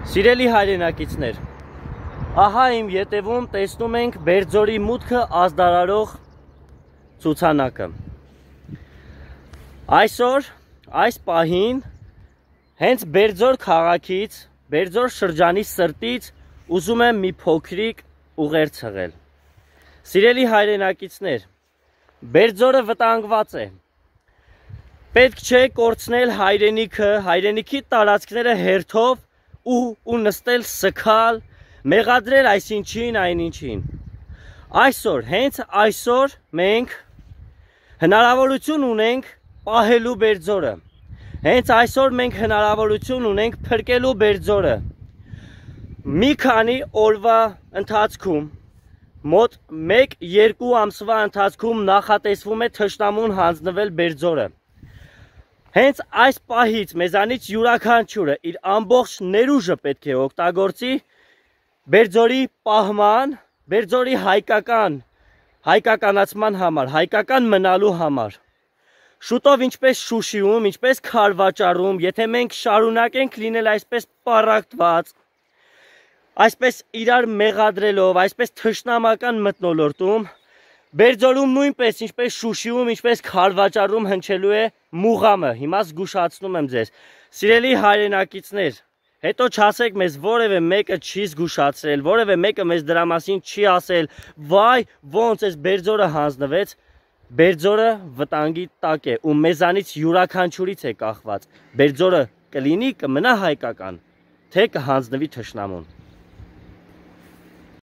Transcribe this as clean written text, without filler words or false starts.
Սիրելի հայրենակիցներ, ահա իմ ետևում տեսնում ենք Բերձորի մուտքը ազդարարող ցուցանակը։ Այսօր, այս պահին, հենց Բերձոր քաղաքից, Բերձոր շրջանի սրտից ուզում եմ մի փոքրիկ ուղերձ հղել։ Սիրելի հայրենակիցներ, Բերձորը վտանգված է։ Պետք չէ կորցնել հայրենիքը, հայրենիքի տարածքները հերթով ու նստել սգալ, մեղադրել այսինչին, այնինչին։ Այսօր, հենց այսօր մենք հնարավորություն ունենք պահելու Բերձորը։ Հենց այսօր մենք հնարավորություն ունենք փրկելու Բերձորը։ Մի քանի օրվա ընթացքում, մոտ 1-2 ամսվա ընթացքում նախատեսվում է թշնամուն հանձնվել Բերձորը։ Հենց այս պահից մեզանից յուրաքանչյուրը իր ամբողջ ներուժը պետք է օգտագործի Բերձորի պահման, Բերձորի հայկականացման համար, հայկական մնալու համար։ Շուտով ինչպես Շուշիում, ինչպես Քարվաճառում, եթե մենք շարունակենք լինել այսպես պառակտված, այսպես իրար մեղադրելով, այսպես թշնամական մթնոլորտում, Բերձորում նույնպես, ինչպես Շուշիում, ինչպես Քարվաճառում հնչելու է մուղամը, հիմա զգուշացնում եմ ձեզ։ Սիրելի հայրենակիցներ, հետո չասեք մեզ որևէ մեկը չի զգուշացրել, որևէ մեկը մեզ դրա մասին չի ասել, վայ, ոնց էս Բերձորը հանձնվեց, Բերձորը վտանգի տակ է ու մեզանից յուրաքանչյուրից է կախված։ Բերձորը կլինի, կմնա հայկական, թե կհանձնվի թշնամուն։